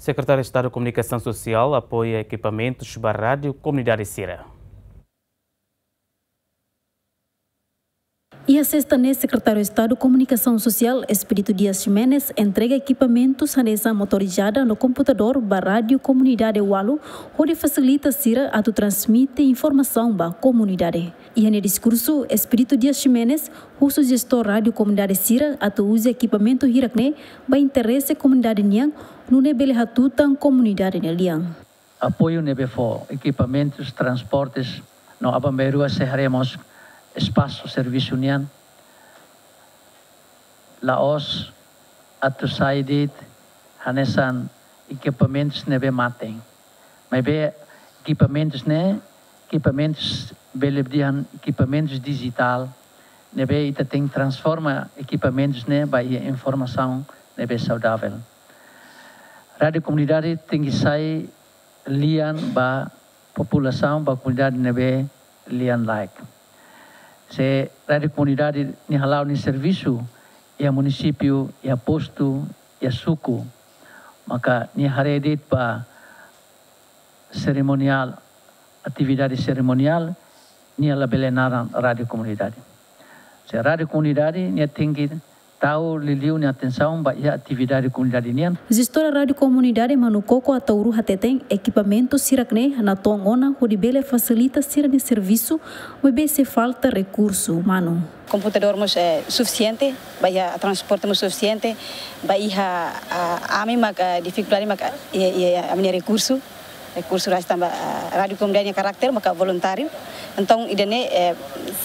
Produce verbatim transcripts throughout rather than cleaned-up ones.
Sekretáriu Estadu Komunikasaun Sosiál apoia ekipamentus ba rádiu komunidade sira. Iha sesta ne'e, Sekretáriu Estadu Komunikasaun Sosiál, Expedito Dias Ximenes, entrega ekipamentus hanesan motorizada no komputadór ba rádiu komunidade ualu, hodi fasilita sira atu transmite informasaun ba komunidade. Iha nia diskursu, Expedito Dias Ximenes husu jestór rádiu komunidade sira atu uza ekipamentu hirak-ne'e ba interese komunidade nian, nune'e bele hatutan komunidade nia lian. Apoiu ne'ebé fó, ekipamentus, transportes, no aban-bainrua sei haree mós espasu servisu nian, la'ós atu sai de'it hanesan ekipamentus ne'ebé mate. Maibé ekipamentus ne'e, ekipamentus bele dehan ekipamentus dijitál, ne'ebé ita tenke transforma ekipamentus ne'e ba iha informasaun ne'ebé saudavel. Rádiu komunidade tenke sai lian ba populasaun, ba komunidade ne'ebé lian laek. Se rádiu komunidade nia hala'o nia servisu iha munisípiu, iha postu, iha suku, maka nia haree de'it ba serimoniál, atividade serimoniál, nia labele naran rádiu komunidade. Se rádiu komunidade, nia tenke tau liuliu nia atensaun ba iha atividade komunidade nian. Jestór rádiu komunidade Manukoko Ataúru hateten, ekipamentus hirak-ne'e natoon ona hodi bele fasilita sira-nia servisu, maibé sei falta rekursu umanu. Komputadór mós, eh, sufisiente, ba iha transporte mós sufisiente, ba iha, ah, ami maka difikuldade maka iha, iha, iha ami-nia rekursu, rekursu rasik tanba, ah, rádiu komunidade nia karakter maka voluntáriu. Entaun, ida-ne'e, eh,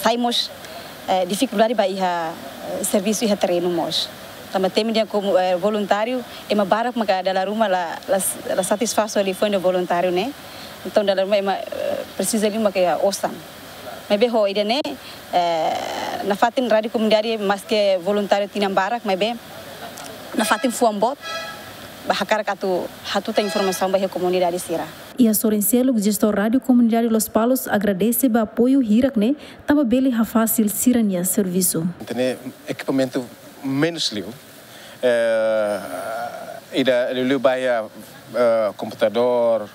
sai mós, eh, difikuldade ba iha, eh, servisu iha terrenu mós. Tanba temi dehan komu, eh, voluntáriu, ema barak maka dala ruma la, la, la satisfás ho liafuan ida voluntáriu ne'e. Entaun, dala ruma ema, eh, presiza liu maka iha osan. Maibé ho ida-ne'e, eh, nafatin rádiu komunidade maske voluntáriu tinan barak, maibé nafatin fuan boot ba hakarak atu hatutan informasaun ba iha komunidade sira. Iha sorin seluk, jestór rádiu komunidade Lospalos agradese ba apoiu hirak-ne'e, tanba bele hafasil sira-nia servisu. Entaun, ekipamentu menus liu, eh, ida liuliu ba iha, eh, komputadór,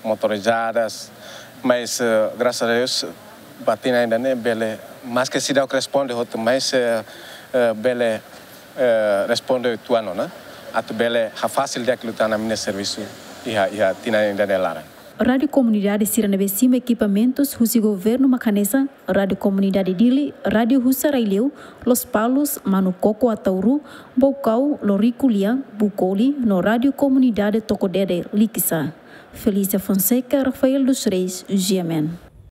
motorizadas, mas, eh, grasas a Deus, ba tinan ida-ne'e bele, maske seidauk responde hotu, mas, eh, eh, bele, eh, responde tuan ona, atu bele hafasil di'ak liután ami-nia servisu iha, iha tinan ida-ne'e laran. Rádiu komunidade sira ne'ebé simu ekipamentus husi governu mak hanesan Rádiu Komunidade Dili, Rádiu Husa Rai Liu, Lospalos, Manukoko Ataúru, Baucau, Loriku Lian, Bucoli, no Rádiu Komunidade Toko Dede, Likisá. Felícia Fonseca, Rafael dos Reis, G M N.